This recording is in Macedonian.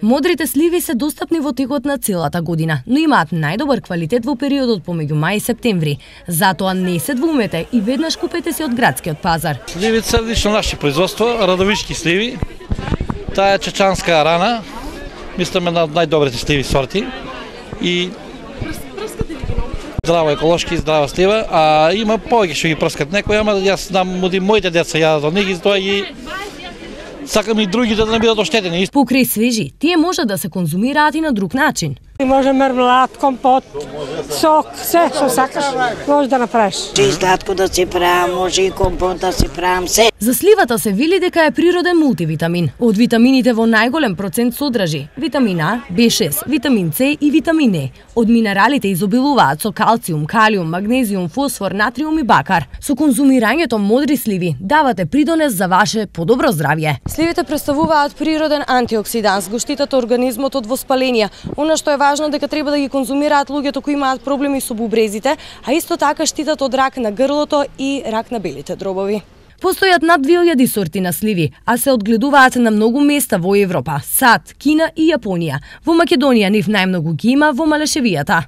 Модрите сливи се достапни во текот на целата година, но имаат најдобар квалитет во периодот помеѓу мај и септември. Затоа не се двумете и веднаш купете се од градскиот пазар. Сливите се лично наше производство, радовишки сливи. Таа е чечанска рана, мислам една од најдобрите сливи сорти. И здрава еколошки, здрава слива, а има повеќе што ги прскат некои, ама јас знам моите деца јадат од нив и тоа ги сакам и другите да не бидат оштетени. Покрај свежи, тие може да се конзумираат и на друг начин. Може мермелад, компот, сок, се што сакаш, може да направиш. И сладко да си правам, може и компот да си правам, се. За сливата се вели дека е природен мултивитамин. Од витамините во најголем процент содржи витамин А, B6, витамин С и витамин Е. Од минералите изобилуваат со калциум, калиум, магнезиум, фосфор, натриум и бакар. Со конзумирањето модри сливи давате придонес за ваше подобро здравје. Сливите представуваат природен антиоксиданс, го штитат организмот од воспаление. Она што е важно дека треба да ги конзумираат луѓето кои имаат проблеми со бубрезите, а исто така штитат од рак на грлото и рак на белите дробови. Постојат над 2000 сорти на сливи, а се одгледуваат на многу места во Европа, САД, Кина и Јапонија. Во Македонија нив најмногу ги има во Малешевијата.